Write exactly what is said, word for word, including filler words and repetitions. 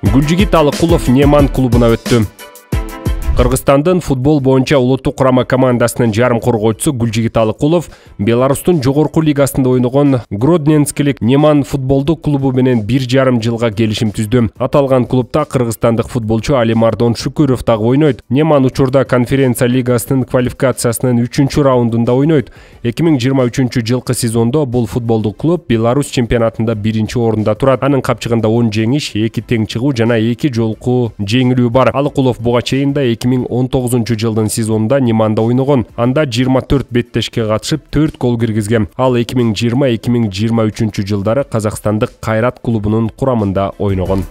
Гүлжигит Алыкулов Неман клубуна өттү. Кыргызстандын футбол боюнча улуттук курама командасынын жарым коргоочусу Гүлжигит Алыкулов Беларустун жогорку лигасында ойногон Гродненскилик Неман футболдук клубу менен бир жарым жылга келишим түздү. Аталган клубда кыргызстандык футболчу Алимардон Шүкүров дагы ойнойт. Неман учурда конференция лигасынын квалификациясынын үчүнчү раундунда ойнойт. эки миң жыйырма үчүнчү жылкы сезондо бул футболдук клуб Беларусь чемпионатында биринчи орунда турат. Анын капчыгында он жеңиш, эки тең чыгуу жана эки жолку жеңилүү бар. Алыкулов буга чейин да эки миң он тогузунчу жылдын сезонунда Неманда ойногон. Анда жыйырма төрт беттешке катышып төрт гол киргизген. Ал эки миң жыйырма эки миң жыйырма үчүнчү жылдары Казакстандык Кайрат клубунун курамында ойногон.